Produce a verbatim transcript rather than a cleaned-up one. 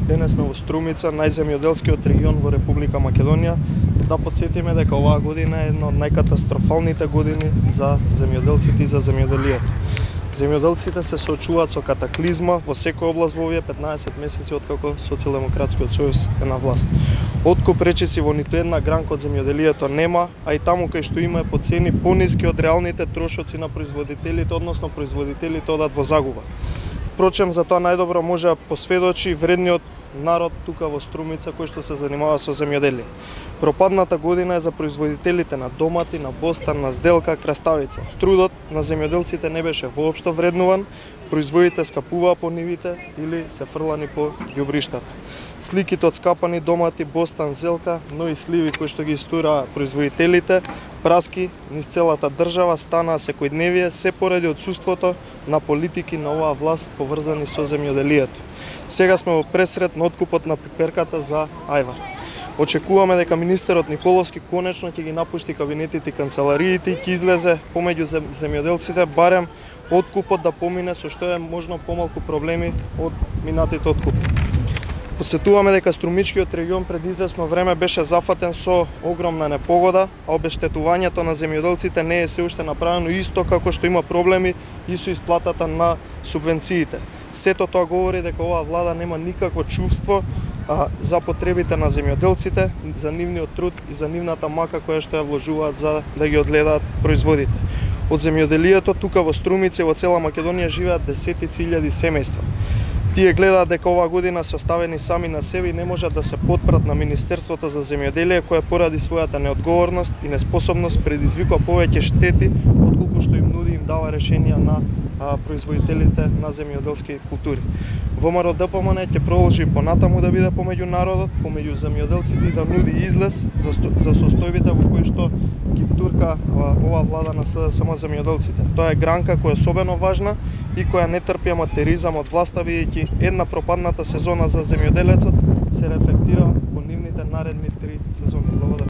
Денес сме во Струмица, најземјоделскиот регион во Република Македонија. Да потсетиме дека оваа година е една од најкатастрофалните години за земјоделците и за земјоделието. Земјоделците се соочуваат со катаклизма во секоја област во овие петнаесет месеци откако Социјалдемократскиот сојуз е на власт. Откуп речиси во ниту една гранка од земјоделието нема, а и таму кај што има по цени пониски од реалните трошоци на производителите, односно производителите одат во загуба. Впрочем, за тоа најдобро може да посведочи вредниот народ тука во Струмица кој што се занимава со земјоделие. Пропадната година е за производителите на домати, на бостан, на зделка, краставица. Трудот на земјоделците не беше воопшто вреднуван, производите скапуваа по нивите или се фрлани по ѓубриштата. Сликите од скапани домати, бостан, зелка, но и сливи кои што ги истураа производителите, праски низ целата држава станаа секојдневие се поради отсуството на политики на оваа власт поврзани со земјоделието. Сега сме во пресред на откупот на пиперката за ајвар. Очекуваме дека министерот Николовски конечно ќе ги напушти кабинетите и канцелариите и ќе излезе помеѓу земјоделците барем откупот да помине со што е можно помалку проблеми од минатите откупи. Подсетуваме дека Струмичкиот регион пред извесно време беше зафатен со огромна непогода, а обештетувањето на земјоделците не е се уште направено исто како што има проблеми и со исплатата на субвенциите. Сето тоа говори дека оваа влада нема никакво чувство а, за потребите на земјоделците, за нивниот труд и за нивната мака која што ја вложуваат за да ги одгледаат производите. Од земјоделието тука во Струмица и во цела Македонија живеат десетици илјади семејства. Тие гледаат дека оваа година се оставени сами на себе и не можат да се потпрат на Министерството за земјоделие, кое поради својата неодговорност и неспособност предизвикува повеќе штети отколку што им нуди им дава решенија на а, производителите на земјоделски култури. ВМРО-ДПМН ќе продолжи понатаму да биде помеѓу народот, помеѓу земјоделците и да нуди излез за, за состојбите во кои што ги втурка оваа влада на само земјоделците. Тоа е гранка која е особено важна и која не трпи аматеризам од власта, бидејќи една пропадната сезона за земјоделецот се рефлектира во нивните наредни три сезони. Благодарам.